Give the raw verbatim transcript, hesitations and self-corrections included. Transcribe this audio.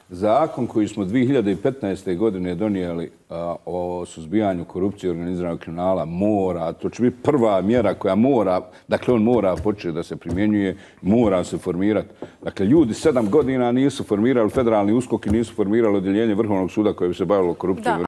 Zakon koji smo dvije hiljade petnaeste. godine donijeli a, o suzbijanju korupcije i organiziranog kriminala mora, to će biti prva mjera koja mora, dakle on mora početi da se primjenjuje, mora se formirati. Dakle, ljudi sedam godina nisu formirali federalni uskok i nisu formirali odjeljenje Vrhovnog suda koje bi se bavilo korupcijom.